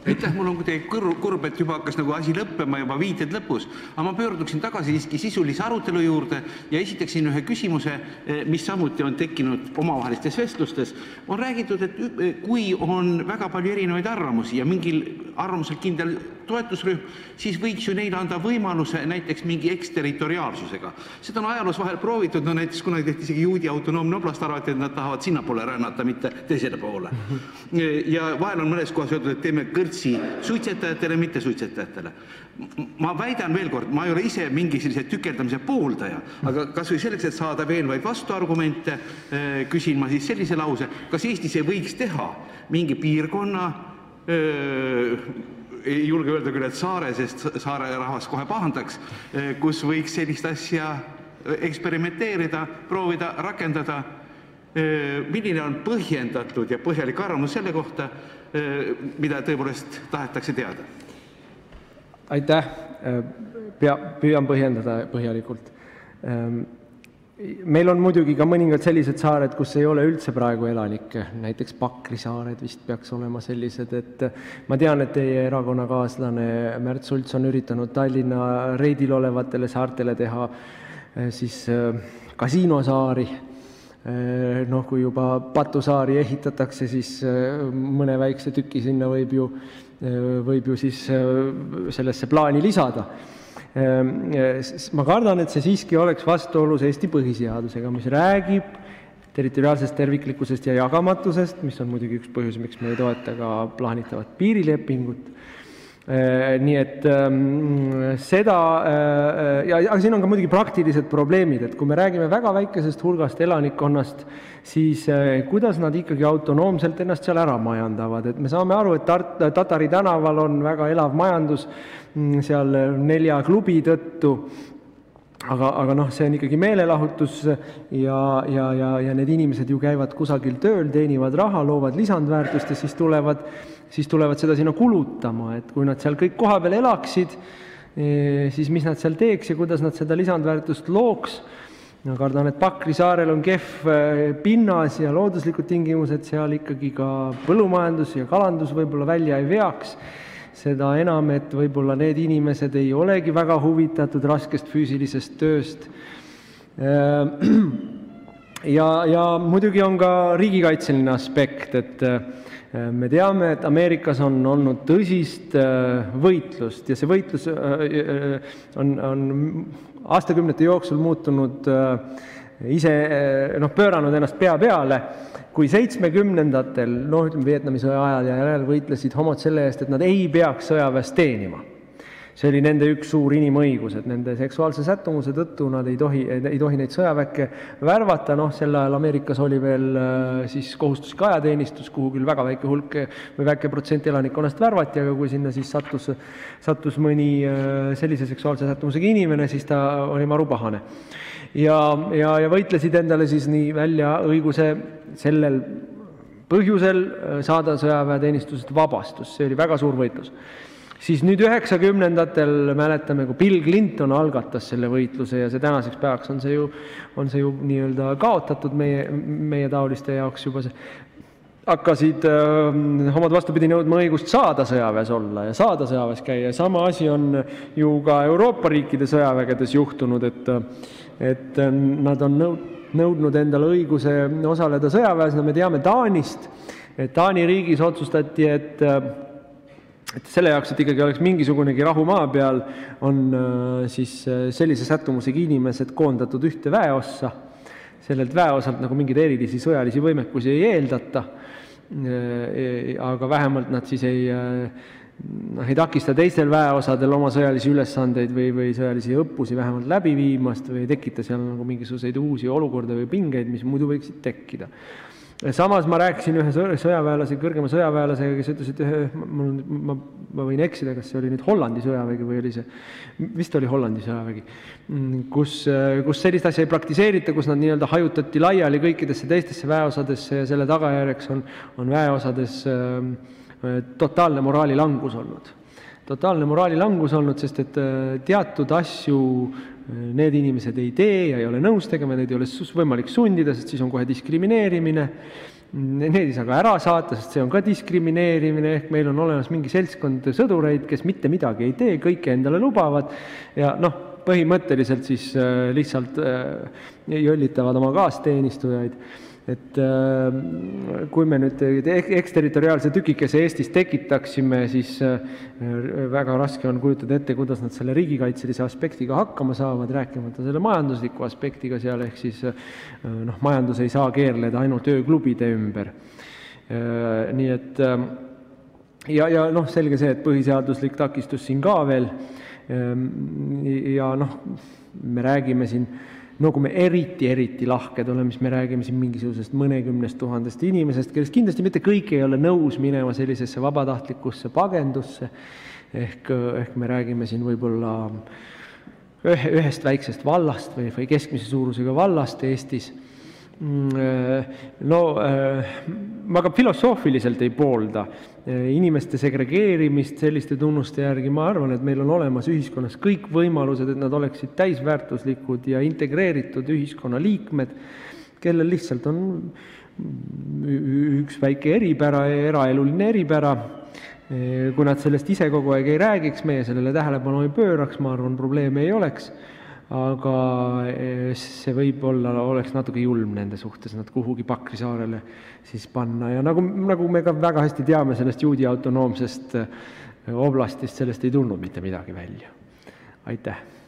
Aitäh, mul on kuidagi kurb, et juba hakkas nagu asi lõppema, juba viited lõpus, aga ma pöörduksin tagasi siiski sisulise arutelu juurde ja esitaksin ühe küsimuse, mis samuti on tekkinud omavahelistes vestlustes. On räägitud, et kui on väga palju erinevaid arvamusi ja mingil arvamusel kindel toetusrühm, siis võiks ju neile anda võimaluse näiteks mingi eksterritoriaalsusega. Seda on ajaloos vahel proovitud, no näiteks kunagi tehti isegi Juudi autonoomne oblast, arvati, et nad tahavad sinnapoole rännata, mitte teisele poole. Ja vahel on mõnes kohas öeldud, et teeme kõrtsi suitsetajatele, mitte suitsetajatele. Ma väidan veel kord, ma ei ole ise mingi sellise tükeldamise pooldaja, aga kas või selleks, et saada veel vaid vastuargumente, küsin ma siis sellise lause, kas Eestis ei võiks teha mingi piirkonna, ei julge öelda küll, et saare, sest saare rahvas kohe pahandaks, kus võiks sellist asja eksperimenteerida, proovida, rakendada. Milline on põhjendatud ja põhjalik arvamus selle kohta, mida tõepoolest tahetakse teada? Aitäh, püüan põhjendada põhjalikult. Meil on muidugi ka mõningad sellised saared, kus ei ole üldse praegu elanikke, näiteks Pakri saared vist peaks olema sellised, et ma tean, et teie erakonnakaaslane Märt Sults on üritanud Tallinna reidil olevatele saartele teha siis kasiinosaari. Noh, kui juba Patusaari ehitatakse, siis mõne väikse tüki sinna võib ju siis sellesse plaani lisada. Ma kardan, et see siiski oleks vastuolus Eesti põhiseadusega, mis räägib territoriaalsest terviklikkusest ja jagamatusest, mis on muidugi üks põhjus, miks me ei toeta ka plaanitavat piirilepingut. Nii et seda, aga siin on ka muidugi praktilised probleemid, et kui me räägime väga väikesest hulgast elanikkonnast, siis kuidas nad ikkagi autonoomselt ennast seal ära majandavad, et me saame aru, et Tatari tänaval on väga elav majandus seal 4 klubi tõttu, aga noh, see on ikkagi meelelahutus ja need inimesed ju käivad kusagil tööl, teenivad raha, loovad lisandväärtust ja siis tulevad seda sinna kulutama, et kui nad seal kõik koha peal elaksid, siis mis nad seal teeks ja kuidas nad seda lisandväärtust looks. Ma kardan, et Pakri saarel on kehv pinnas ja looduslikud tingimused, seal ikkagi ka põllumajandus ja kalandus võib-olla välja ei veaks. Seda enam, et võib-olla need inimesed ei olegi väga huvitatud raskest füüsilisest tööst. Ja muidugi on ka riigikaitseline aspekt, et me teame, et Ameerikas on olnud tõsist võitlust ja see võitlus on aastakümnete jooksul muutunud pööranud ennast pea peale, kui 70-ndatel, ütleme Vietnami sõja ajal ja järel võitlesid homod selle eest, et nad ei peaks sõjaväes teenima. See oli nende üks suur inimõigus, et nende seksuaalse sättumuse tõttu nad ei tohi neid sõjaväkke värvata. Sel ajal Ameerikas oli veel siis kohustuslik ajateenistus, kuhu küll väga väike hulk või väike protsent elanikkonnast värvati, aga kui sinna siis sattus mõni sellise seksuaalse sättumusega inimene, siis ta oli marupahane. Ja võitlesid endale siis nii välja õiguse sellel põhjusel saada sõjaväeteenistusest vabastus. See oli väga suur võitlus. Siis nüüd 90-ndatel mäletame, kui Bill Clinton algatas selle võitluse ja see tänaseks päevaks on see ju nii-öelda kaotatud meie taoliste jaoks juba see. Hakkasid homod vastupidi nõudma õigust saada sõjaväes olla ja saada sõjaväes käia. Sama asi on ju ka Euroopa riikide sõjavägedes juhtunud, et nad on nõudnud endale õiguse osaleda sõjaväes. Me teame Taanist, et Taani riigis otsustati, et selle jaoks, et ikkagi oleks mingisugunegi rahu maa peal, on siis sellise sättumusega inimesed koondatud ühte väeossa. Sellelt väeosalt nagu mingeid erilisi sõjalisi võimekusi ei eeldata, aga vähemalt nad siis ei takista teistel väeosadel oma sõjalisi ülesandeid või sõjalisi õppusi vähemalt läbi viimast või ei tekita seal nagu mingisuguseid uusi olukorda või pingeid, mis muidu võiksid tekkida. Samas ma rääkisin ühe kõrgema sõjaväelasega, kes ütles, et ma võin eksida, kas see oli nüüd Hollandi sõjavägi või oli see, vist oli Hollandi sõjavägi, kus sellist asja ei praktiseerita, kus nad nii-öelda hajutati laiali kõikidesse teistesse väeosadesse ja selle tagajärjeks on väeosades totaalne moraalilangus olnud. Totaalne moraalilangus olnud, sest et teatud asju need inimesed ei tee ja ei ole nõus tegema, neid ei ole võimalik sundida, sest siis on kohe diskrimineerimine Neid ei saa ka ära saata, sest see on ka diskrimineerimine, ehk meil on olemas mingi seltskond sõdureid, kes mitte midagi ei tee, kõike endale lubavad ja põhimõtteliselt siis lihtsalt jollitavad oma kaasteenistujaid. Et kui me nüüd eksterritoriaalse tükikese Eestis tekitaksime, siis väga raske on kujutada ette, kuidas nad selle riigikaitselise aspektiga hakkama saavad, rääkimata selle majandusliku aspektiga seal, ehk siis majandus ei saa keerleda ainult ööklubide ümber. Nii et ja selge see, et põhiseaduslik takistus siin ka veel ja me räägime siin, kui me eriti lahked oleme, siis me räägime siin mingisugusest mõnekümnest tuhandest inimesest, kellest kindlasti mitte kõik ei ole nõus minema sellisesse vabatahtlikusse pagendusse, ehk me räägime siin võib-olla ühest väiksest vallast või keskmise suurusega vallast Eestis. Ma ka filosoofiliselt ei poolda inimeste segregeerimist selliste tunnuste järgi. Ma arvan, et meil on olemas ühiskonnas kõik võimalused, et nad oleksid täisväärtuslikud ja integreeritud ühiskonna liikmed, kellel lihtsalt on üks väike eripära, eraeluline eripära. Kui nad sellest ise kogu aeg ei räägiks, meie sellele tähelepanu ei pööraks, ma arvan, probleeme ei oleks. Aga see võib-olla oleks natuke julm nende suhtes, nad kuhugi Pakrisaarele siis panna. Ja nagu me ka väga hästi teame sellest juudi autonoomsest oblastist, sellest ei tulnud mitte midagi välja. Aitäh!